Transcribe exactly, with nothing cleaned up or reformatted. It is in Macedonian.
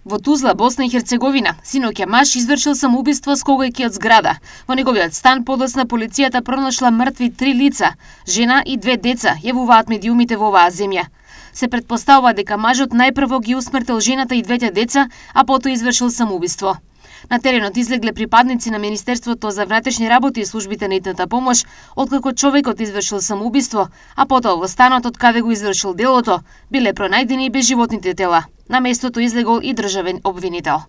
Во Тузла, Босна и Херцеговина, синоќа маж извршил самоубиство скогајќи од зграда. Во неговиот стан подоцна полицијата пронашла мртви три лица, жена и две деца, јавуваат медиумите во оваа земја. Се претпоставува дека мажот најпрво ги усмртил жената и двете деца, а потоа извршил самоубиство. На теренот излегле припадници на Министерството за внатрешни работи и службите на итната помош, откако човекот извршил самоубиство, а потоа во станот од каде го извршил делото, биле пронајдени безживотните тела. На местото излегол и државен обвинител.